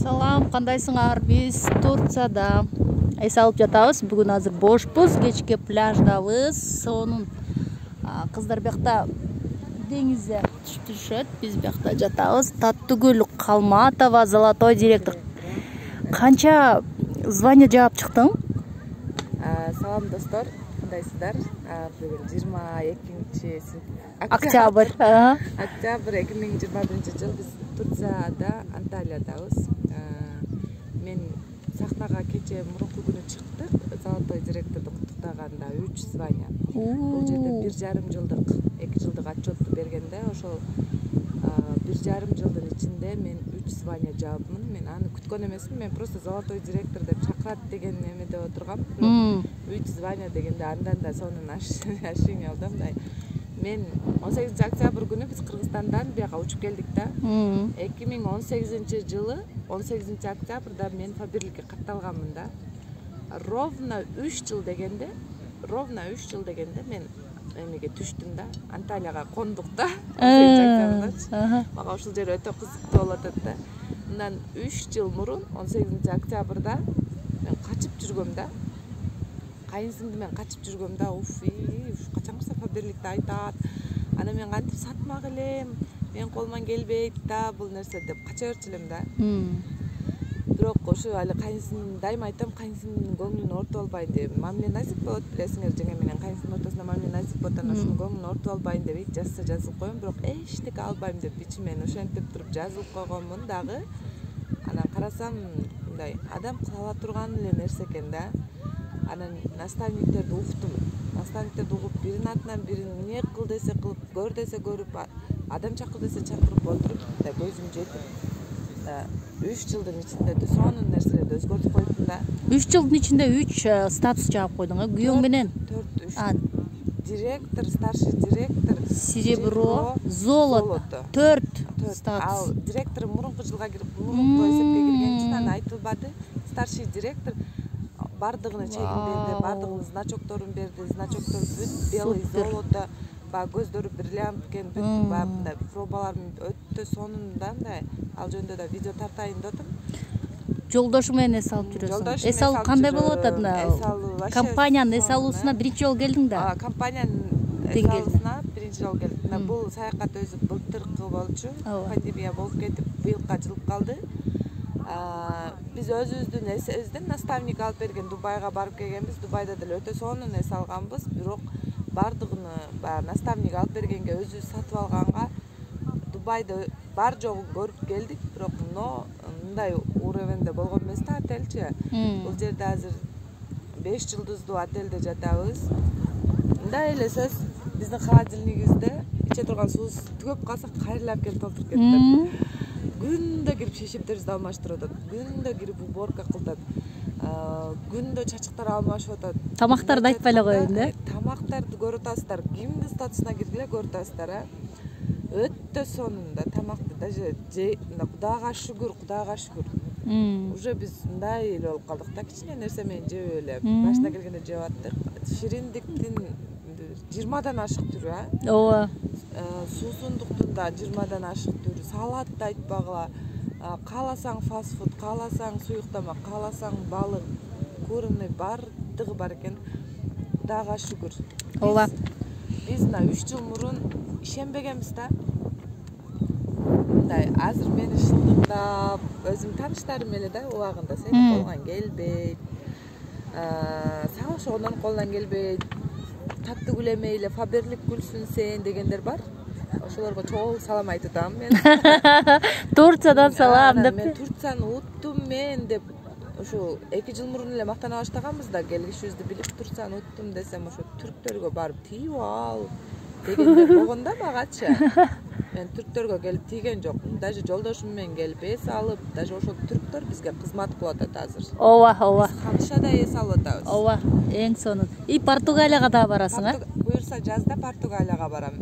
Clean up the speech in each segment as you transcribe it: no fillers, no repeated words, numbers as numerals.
Салам, кандайсыңар? Биз Турцияда эс алып жатабыз. Бүгүн азыр бошпуз, кечке пляждабыз. Сонун кыздар бияқта деңизде түшөт. Биз бияқта жатабыз. Таттыгүл Калматова, Золотой директор. Канча звание жаап чыктың? Салам достор, кандайсыздар? Бүгүн 22 октябрь. Октябрь 2021 жыл биз Турцияда, Анталиядабыз. Мен сахнага кече мурунку күнү чыктык. Золотой директорду куттуктаганда 3 звание. Бул жерде 1,5 жылдык, 2 жылдык отчетту бергенде ошол 1,5 жылдын ичинде мен 3 звание жаапмын. Мен аны күткөн эмесмин. Мен просто золотой директор деп чакырат деген эмеде отургам. 3 звание дегенде андан да сонун ошибка алдым. Мен 18 октябрь күнү биз Кыргызстандан бияка учуп келдик да. 2018 жылы 18 октябрда мен Фаберликке катталганмын да. Ровно 3 жыл дегенде мен эмеге түштүм да. Анталияга кондук да. 18 октябрда. Мага ушул жер өтө кызыктуу болуп атат да. Мындан 3 жыл мурун 18 октябрда мен качып жүргөм да. Кайынсиңди мен качып жүргөм да. Качан кырса Фаберликте айтат. Ана мен кантип сатмак элем, мен колуман келбейт да бул нерсе деп кача берчү элем да. Бирок ошо али кайынсиңдим дайыма айтам, кайынсиңдимдин көңүлүн ортуп албайын деп. Мамиле Назик болот, билесиңер, жеңе менен кайынсиңдин ортосунда Мамиле Назик болот, ошонун көңүлүн ортуп албайын деп жазса жазылып коем, бирок эчтеке албайм деп ичимен ошентип туруп жазылып койгонмун дагы. Анан карасам мындай адам кыла турган эле нерсе экен да. Анан наставниктерди уктум. Наставниктерди угуп, биринин атынан бирин эмне кыл десе кылып, көр десе көрүп, адам чакыр десе чакырып отуруп, көзүм жетип 3 жылдын ичинде сонун нерселерди өзгөртүп койдум да. 3 жылдын ичинде 3 статус жаап койдуң, Күйөөң менен? 4 директор, старший директор, серебро, золото. 4 статус. Ал директор мурунку жылга кирип, мурунку эсепке кирген үчүн аны айтылбады. Старший директор бардыгына чегин берди, бардыгынын значокторун берди. Значоктор бүт белый, золото, көздөрү бриллиант экен, бүт мындай пробаларым өтө сонун да, мындай. Ал жөнүндө да видео тартайын деп атам. Жолдошу менен эс алып жүрөсүң. Эс алуу кандай болуп атат? Компаниянын эс алуусуна биринчи жолу келдиң да? Компаниянын эс алуусуна биринчи жолу келдим. Бул саякат өзү былтыркы болчу. Пандемия болуп кетип, быйылга жылып калды. Биз өзүбүздүн эсебизден наставник алып берген Дубайга барып келгенбиз. Дубайда деле өтө сонун эс алганбыз, бирок бардыгыны баягы наставник алып бергенге өзүбүз сатып алганга Дубайды бар жогун көрүп келдик, бирок мындай уровеньде болгон эмес да отельчи. Бул жерде азыр 5 жылдыздуу отельде жатабыз. Мындай эле сөз, биздин холодильнигибизде иче турган суубуз түгөп калса кайрылап келип толтуруп кетет. Күндө кирип шешептерибизди алмаштырып атат. Күндө кирип уборка кылып атат. Күндө чачыктар алмашып атат. Тамактарды айтпай эле коеюн да. Тамактарды көрүп атасыздар. Кимдин статусуна киргиле көрүп атасыздар, Өтө сонун да тамакты, даже Кудайга шүгүр. Уже биз мындай эле болуп калдык да, кичине нерсе менен жебей эле. Башына келгенде жеп аттык. Шириндиктин 20дан ашык түрү, Ооба. Суусундуктун да 20дан ашык түрү, салатты айтпагыла. Кааласаң фастфуд, кааласаң суюк тамак, кааласаң балык, куриный бардыгы бар экен. Кудайга шүгүр. Ооба. Биз мына 3 жыл мурун ишенбегенбиз да. Мындай азыр мени шылдыңдап, өзүм тааныштарым эле да убагында сенин колуңан келбейт. Сага ошондон колунан келбейт. Таттыгүл эмей эле Фаберлик күлсүн сен дегендер бар. Ошолорго чоң салам айтып атам мен. Турциядан салам деп. Мен Турцияны уттум мен деп ошо 2 жыл мурун эле мактана баштаганбыз да, келишибизди билип Турцияны уттум десем ошо түрктөргө барып тийип ал дегендер болгон да магачы. Мен түрктөргө келип тийген жокмун. Даже жолдошум менен келип эс алып, даже ошол түрктөр бизге кызмат кылып атат азыр. Ооба. Ханшада эс алып атабыз. Ооба, эң сонун. И Португалияга да барасың, Буюрса жазда Португалияга барам.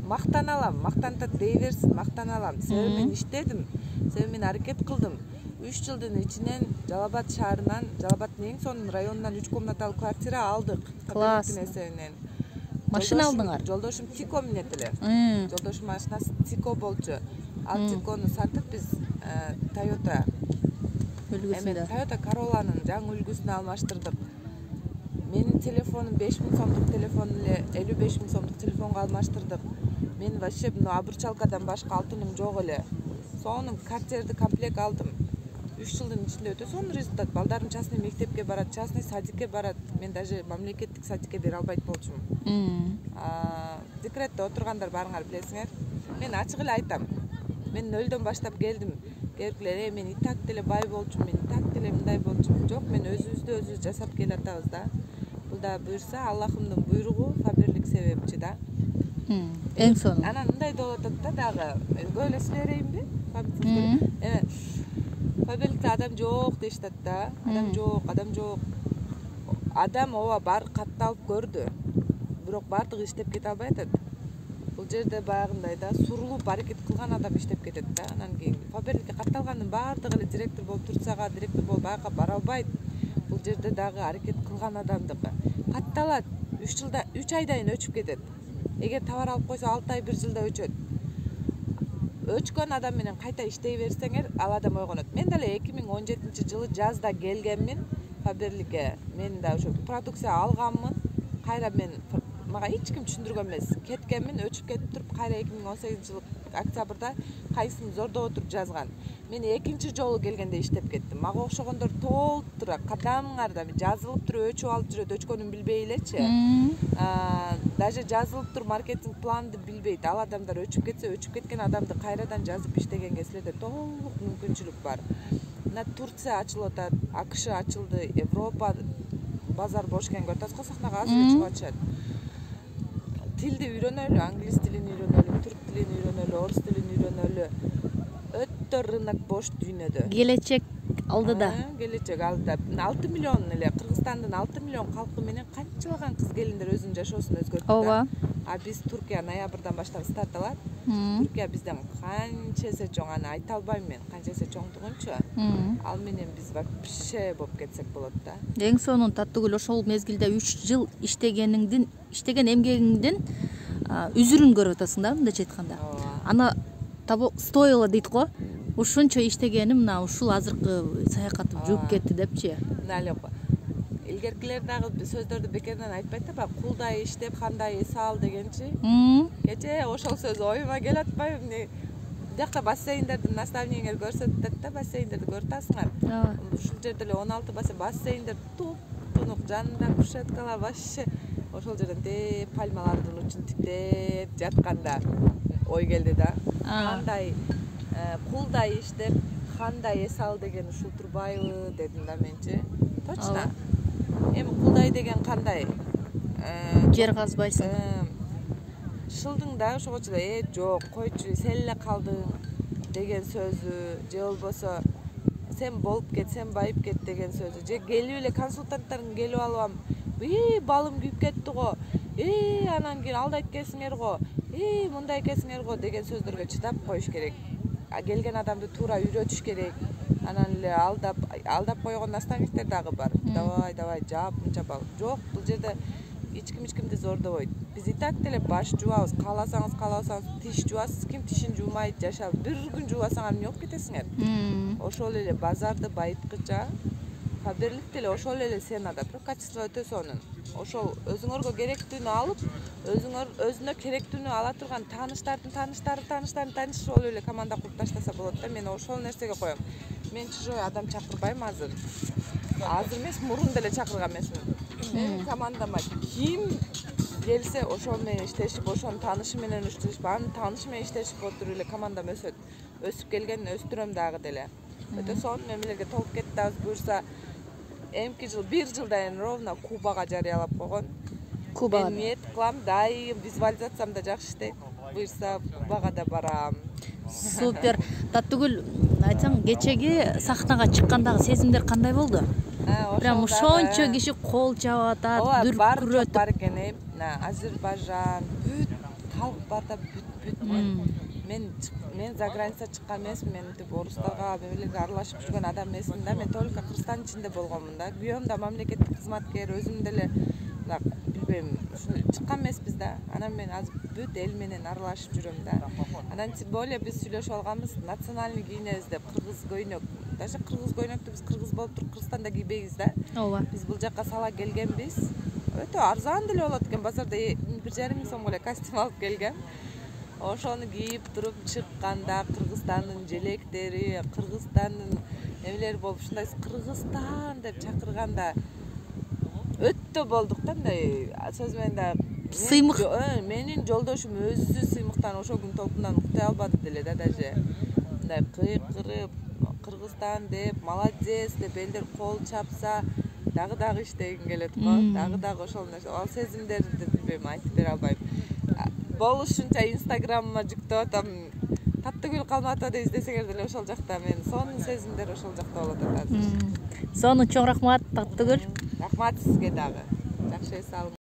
Мактана алам, мактантат дей берсин, мактана алам. Себеби мен иштедим, себеби мен аракет кылдым. 3 жылдын ичинен Жалал-Абад шаарынан, Жалал-Абаддын эң сонун районунан 3 комнаталуу квартира алдык. Класс. Машина алдыңар? Жолдошум Тико минет эле. Жолдошум машинасы Тико болчу. Ал Тикону сатып биз Toyota үлгүсүндө. Toyota Corolla'nын жаңы үлгүсүнө алмаштырдык. Менин телефонум 5000 сомдук телефон эле 55 000 сомдук телефонго алмаштырдык. Мен вообще мына обручалкадан башка алтыным жок эле. Сонун Cartier'ди комплект алдым. 3 жылдын ичинде өтө сонун результат. Балдарым частный мектепке барат, частный садикке барат. Мен даже мамлекеттик садикке бере албайт болчумун. Декретте отургандар барыңар билесиңер. Мен ачык эле айтам. Мен нөлдөн баштап келдим. Келгилер, мен и так деле бай болчумун, мен и так деле мындай болчумун. Жок, мен өзүбүздү жасап келатабыз да. Бул да буйрса Аллахымдын буйругу, Фаберлик себепчи да. Эң сонун. Анан мындай болуп атат да дагы. Көп эле сүйлөй берейинби? Фаберликте адам жок дейишет да. Адам жок. Адам ооба бар катталып көрдү. Бирок баардыгы иштеп кете албай атат. Бул жерде баягындай да сурулуп аракет кылган адам иштеп кетет да. Анан кийин Фаберликке катталгандын баардыгы эле директор болуп турсага, директор болуп аяка бара албайт. Бул жерде дагы аракет кылган адамдыкы. Катталат 3 айдан кийин өчүп кетет. Эгер товар алып койсо 6 ай 1 жылда өчөт. Өчкөн адам менен кайта иштей берсеңер, ал адам ойгонот. Мен деле 2017-жылы жазда келгенмин Фаберликке. Мен да ошо продукция алганмын. Кайра мага эч ким түшүндүргөн эмес. Кеткенмин, өчүп кетип туруп, кайра 2018-жылы октябрда кайсысын зордоп отуруп жазган. Мен экинчи жолу келгенде иштеп кеттим. Мага окшогондор толтура кадамыңарда жазылып туруп өчүп алып жүрөт, өчкөнүн билбей элечи. Даже жазылып туруп маркетинг планды билбейт. Ал адамдар өчүп кетсе, өчүп кеткен адамды кайрадан жазып иштегенге силерде толук мүмкүнчүлүк бар. Мына Турция ачылып атат, АКШ ачылды, Европа базар бош экенин көрүп атасыз, сахнага азыр эле чыгып атышат. Тилди үйрөнөлү, англис тилин үйрөнөлү, түрк тилин үйрөнөлү, орус тилин үйрөнөлү. Өтө рынок бош дүйнөдө. Келечек алдыда. 6 миллион эле Кыргызстандын 6 миллион калкы менен канчалаган кыз келиндер өзүнүн жашоосун өзгөрттү. Ооба. А биз Туркия ноябрдан баштап старт алат. Туркия бизден канча эсе чоң, аны айта албайм мен, канча эсе чоңдугунчу. Ал менен биз вообще болуп кетсек болот да. Эң сонун Таттыгүл, ошол мезгилде 3 жыл иштеген эмгегиңдин үзүрүн көрүп атасың да, мындайча айтканда. Ана стоило дейт го. Ушунчо иштегеним мына ушул азыркы саякатым жууп кетти депчи. Мына эле илгеркилер дагы сөздөрдү бекерден айтпайт да, баягы кулдай иштеп, кандай эс ал дегенчи. Кечээ ошол сөз оюма келип атпайбы? Биякта бассейндерди наставниеңер көрсөтүп атат да, бассейндерди көрүп атасыңар. Ушул жерде эле 16 бассейндер туп-тунук, жанында кушеткалар вообще. Ошол жерден пальмалардын учун тиктеп жатканда ой келди да. Кандай кулдай иштеп, кандай эс ал деген ушул турбайбы дедим да менчи. Точно. Эми кулдай деген кандай? Жер казбайсың. Шылдың да ошогочу жок, койчу, сен эле калдың деген сөзү, же болбосо сен болуп кет, сен байып кет деген сөзү, же келип эле консультанттарың келип алам, балым күйүп кетти го, анан кийин алда экенсиңер го, мындай экенсиңер го деген сөздөргө чыдап коюш керек. Келген адамды туура үйрөтүш керек. Анан эле алдап койгон наставниктер дагы бар. Давай, жап, мынча бал. Жок, бул жерде эч кимди зордобойт. Биз и так деле баш жуабыз, кааласаңыз тиш жуасыз, ким тишин жуумай жашап, бир күн жуубасаң эмне болуп кетесиңер? Ошол эле базарды байыткыча Фаберлик деле ошол эле сценада, бирок качество өтө сонун. Ошол өзүңөргө керектүүнү алып, өзүнө керектүүнү ала турган тааныштарын таанышып эле команда куруп таштаса болот да. Мен ошол нерсеге коем. Мен чужой адам чакырбайм азыр. Азыр эмес, мурун деле чакырган эмесмин. Менин командама ким келсе ошол менен иштешип, ошонун таанышы менен иштешип, анын таанышы менен иштешип отуруп эле командам өсөт. Өсүп келген өстүрөм дагы деле. Өтө сонун эмелерге толуп кетти. Буюрса эмки жыл, 1 жылдан ровно Кубага жарыялап койгон. Кубага мен ниет кылам, дайым визуализациям да жакшы иштейт. Буюрса Кубага да барам. Супер. Таттыгүл, айтсаң, кечеги сахнага чыккандагы сезимдер кандай болду? Прям ошончо киши кол чаап атат, дүркүрөтүп бар экен. Азербайжан, бүт калк бар да, бүт. Мен за граница чыккан эмесмин, мен тип орустарга, мемлекетке аралашып жүргөн адам эмесмин да. Мен только Кыргызстандын ичинде болгонмун да. Күйөөм да мамлекеттик кызматкер, өзүм деле билбейм, чыккан эмеспиз да. Анан мен азыр бүт эл менен аралашып жүрөм да. Анан тем более биз сүйлөшүп алганбыз, национальный кийинебиз деп, кыргыз көйнөк. Даже кыргыз көйнөктү биз кыргыз болуп туруп Кыргызстанда кийбейбиз да. ооба. Биз бул жакка сала келгенбиз. Өтө арзан деле болот экен, базарда 1,5 миң сомго эле костюм алып келгем. Ошону кийип туруп чыкканда Кыргызстандын желектери, Кыргызстандын эмелери болуп ушундай Кыргызстан деп чакырганда өтө болдук да, мындай сөз менен да Сыймык. Менин жолдошум өзү сыймыктан ошол күн толкундан уктай албады деле да, даже мындай кыйкырып Кыргызстан деп, молодец деп элдер кол чапса, дагы иштегим келет го. Дагы ошол ал сезимдерди билбейм, айтып бере албайм. Болушунча Инстаграмыма жүктөп атам. Таттыгүл калматова деп издесеңер деле ошол жакта мен сонун сезимдер ошол жакта болот азыр. Сонун чоң рахмат Таттыгүл. Рахмат сизге дагы. Жакшы эс алыңыз.